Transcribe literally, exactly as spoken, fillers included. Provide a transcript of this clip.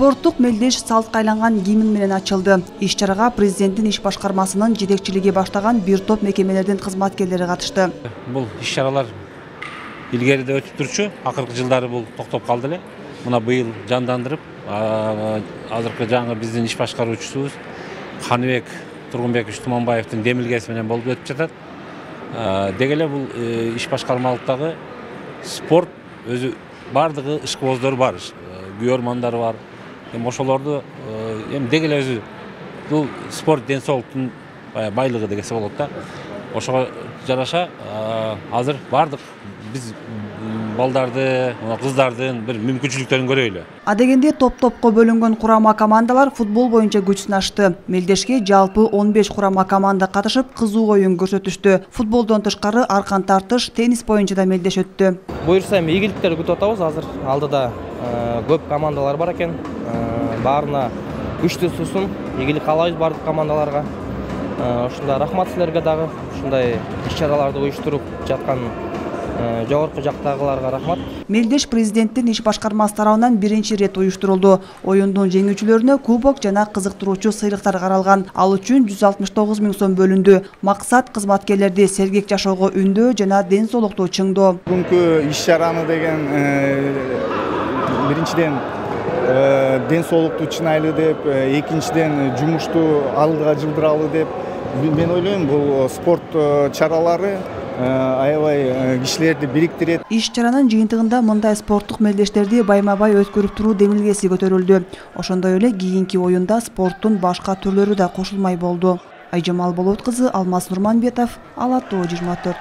Спорттук мелдеш салтка айланган гимн менен ачылды. Иш-чарага президенттин иш башкармасынын жетекчилиги баштаган бир топ мекемелердин кызматкерлери катышты. Бул иш-чаралар илгериде өтүп турчу, акыркы жылдары бул токтоп калды эле. Мына быйыл жандандырып, азыркы жаңы биздин иш башкаруучусубуз Каныбек Тургунбекович Туманбаевдин демилгеси менен болуп өтүп жатат. Деги эле бул иш башкармалыктагы спорт өзү бардыгы ишкыбоздор бар, күйөрмандар бар. Эми ошолорду эми деги эле өзү бул спорт ден соолуктун байлыгы дегенсе болот да. Ошого жараша азыр бардык биз балдарды, кыздардын бир мүмкүнчүлүктөрүн көрөйлү. Адегенде топ-топко бөлүнгөн курама командалар футбол боюнча күч сынашты. Мелдешке жалпы он беш курама команда катышып, кызуу оюн көрсөтүштү. Футболдон тышкары аркан тартыш, теннис боюнча да мелдеш өттү. Буюрса эми ийгиликтерди күтүп атабыз. Азыр алдыда көп командалар бар экен. Баарына күчтүү суусун, ийгилик каалайбыз бардык командаларга. Ушундай рахмат силерге дагы ушундай иш-чараларды уюштуруп жаткан жогорку жактагыларга рахмат. Мелдеш президенттин иш башкармасы тарабынан биринчи рет уюштурулду. Оюндун жеңүүчүлөрүнө кубок жана кызыктыруучу сыйлыктар каралган. Ал үчүн жүз алтымыш тогуз миң сом бөлүндү. Максат кызматкерлерди сергек жашоого үндөө жана ден соолукту чыңдоо. Бүгүнкү иш-чараны деген биринчиден ден соолукту чыңайлы деп, экинчиден жумушту алдыга жылдыралы деп мен ойлойм. Бул спорт чаралары аябай кишилерди бириктирет. Иш-чаранын жыйынтыгында мындай спорттук мелдештерди байма-бай өткөрүп туруу демилгеси көтөрүлдү. Ошондой эле кийинки оюнда спорттун башка түрлөрү да кошулмай болду. Айжамал Болот кызы, Алмаз Нурманбетов, Ала Тоо жыйырма төрт.